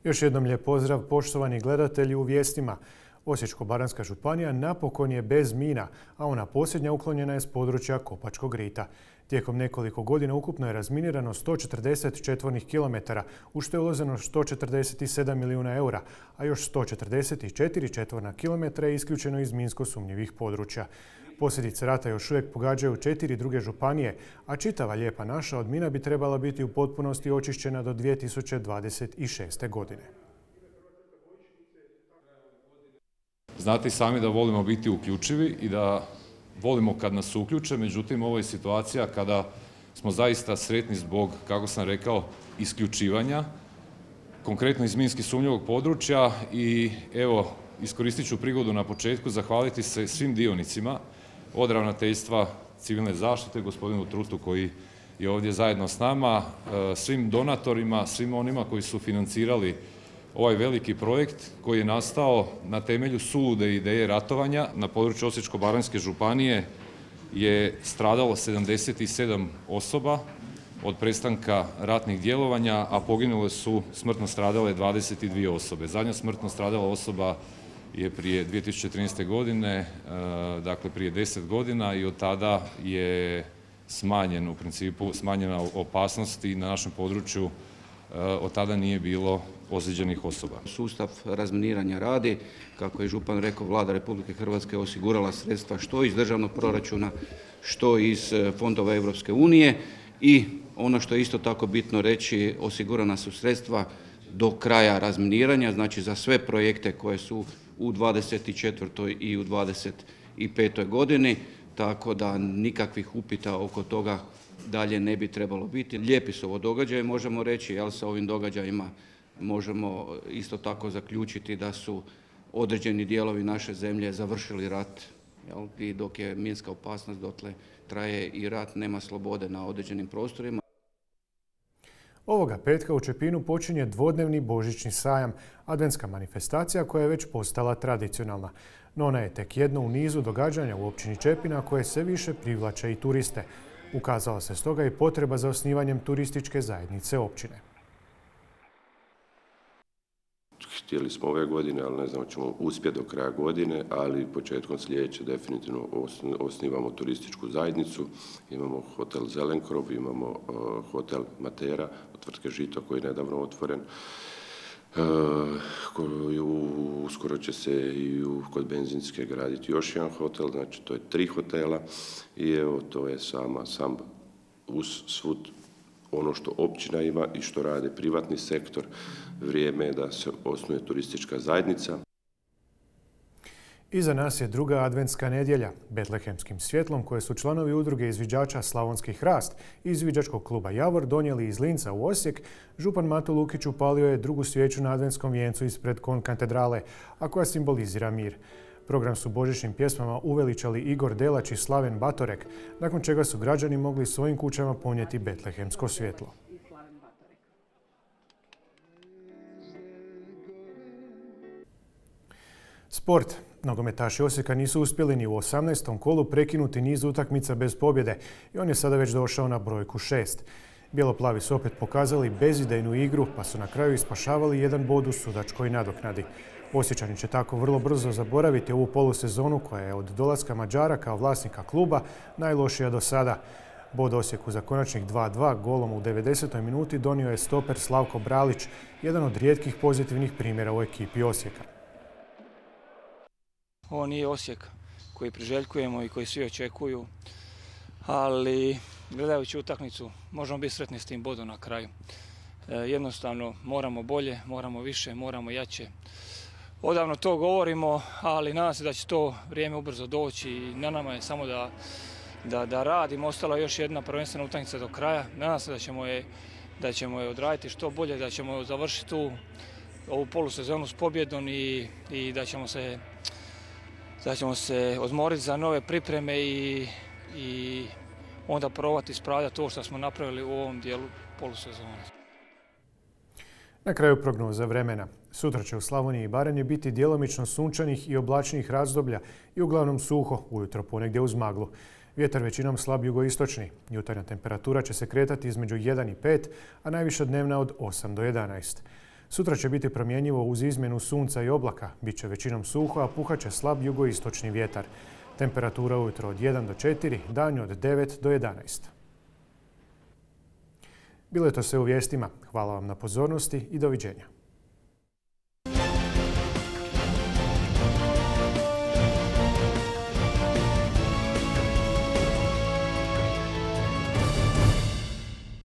Još jednom lijep pozdrav poštovani gledatelji u vijestima. Osječko-baranjska županija napokon je bez mina, a ona posljednja uklonjena je s područja Kopačkog rita. Tijekom nekoliko godina ukupno je razminirano 140 četvornih kilometara, u što je uloženo 147 milijuna eura, a još 144 četvorna kilometra je isključeno iz minsko sumnjivih područja. Posljedice rata još uvijek pogađaju 4 druge županije, a čitava Lijepa naša od mina bi trebala biti u potpunosti očišćena do 2026. godine. Znate i sami da volimo biti uključivi i da volimo kad nas uključe, međutim ovo je situacija kada smo zaista sretni zbog, kako sam rekao, isključivanja, konkretno iz minski sumnjivog područja. I evo, iskoristit ću prigodu na početku zahvaliti se svim dionicima od Ravnateljstva civilne zaštite, gospodinu Trutu koji je ovdje zajedno s nama, svim donatorima, svim onima koji su financirali ovaj veliki projekt koji je nastao na temelju sulude ideje ratovanja. Na području Osječko-baranjske županije je stradalo 77 osoba od prestanka ratnih djelovanja, a poginule su smrtno stradale 22 osobe. Zadnja smrtno stradala osoba je prije 2013. godine, dakle prije 10 godina, i od tada je smanjen, u principu smanjena opasnost i na našem području od tada nije bilo ozlijeđenih osoba. Sustav razminiranja radi, kako je župan rekao, Vlada Republike Hrvatske osigurala sredstva što iz državnog proračuna, što iz fondova Europske unije, i ono što je isto tako bitno reći, osigurana su sredstva do kraja razminiranja, znači za sve projekte koje su u 24. i u 25. godini, tako da nikakvih upita oko toga dalje ne bi trebalo biti. Lijepi su ovo događaje, možemo reći, jel, sa ovim događajima možemo isto tako zaključiti da su određeni dijelovi naše zemlje završili rat, jel, i dok je minska opasnost, dotle traje i rat, nema slobode na određenim prostorima. Ovoga petka u Čepinu počinje dvodnevni božićni sajam, adventska manifestacija koja je već postala tradicionalna. No ona je tek jedno u nizu događanja u općini Čepina koje sve više privlače i turiste. Ukazala se stoga i potreba za osnivanjem turističke zajednice općine. Htjeli smo ove godine, ali ne znam, ćemo uspjeti do kraja godine, ali početkom sljedeće definitivno osnivamo turističku zajednicu. Imamo hotel Zelenkrov, imamo hotel Matera od tvrtke Žito koji je nedavno otvoren. Uskoro će se i kod benzinske graditi još jedan hotel, znači to je 3 hotela i evo to je sam uz svud ono što općina ima i što rade privatni sektor. Vrijeme je da se osnuje turistička zajednica. Iza nas je druga adventska nedjelja. Betlehemskim svjetlom koje su članovi udruge izviđača Slavonski hrast i izviđačkog kluba Javor donijeli iz Linca u Osijek, župan Mato Lukić upalio je drugu svijeću na adventskom vijencu ispred konkatedrale, a koja simbolizira mir. Program su božićnim pjesmama uveličali Igor Delać i Slaven Batorek, nakon čega su građani mogli svojim kućama ponijeti betlehemsko svjetlo. Sport. Nogometaši Osijeka nisu uspjeli ni u 18. kolu prekinuti niz utakmica bez pobjede i on je sada već došao na brojku 6. Bijeloplavi su opet pokazali bezidejnu igru, pa su na kraju ispašavali jedan bod u sudačkoj nadoknadi. Osječani će tako vrlo brzo zaboraviti ovu polusezonu koja je od dolaska Mađara kao vlasnika kluba najlošija do sada. Bod Osijeku za konačnih 2:2 golom u 90. minuti donio je stoper Slavko Bralić, jedan od rijetkih pozitivnih primjera u ekipi Osijeka. Ovo nije Osijek koji priželjkujemo i koji svi očekuju, ali gledajući utakmicu možemo biti sretni s tim bodom na kraju. Jednostavno moramo bolje, moramo više, moramo jače. Odavno to govorimo, ali nadam se da će to vrijeme ubrzo doći i na nama je samo da radimo. Ostala je još jedna prvenstvena utakmica do kraja. Nadam se da ćemo je odraditi što bolje, da ćemo završiti ovu polusezonu s pobjedom i da ćemo se odmoriti za nove pripreme i onda probati ispravljati to što smo napravili u ovom dijelu polusezone. Na kraju prognoza vremena. Sutra će u Slavoniji i Baranji biti djelomično sunčanih i oblačnih razdoblja i uglavnom suho, ujutro ponegdje uz maglu. Vjetar većinom slab jugoistočni. Jutarnja temperatura će se kretati između 1 i 5, a najviša dnevna od 8 do 11. Sutra će biti promjenjivo uz izmjenu sunca i oblaka. Biće većinom suho, a puhat će slab jugoistočni vjetar. Temperatura ujutro od 1 do 4, danju od 9 do 11. Bilo je to sve u vijestima. Hvala vam na pozornosti i doviđenja.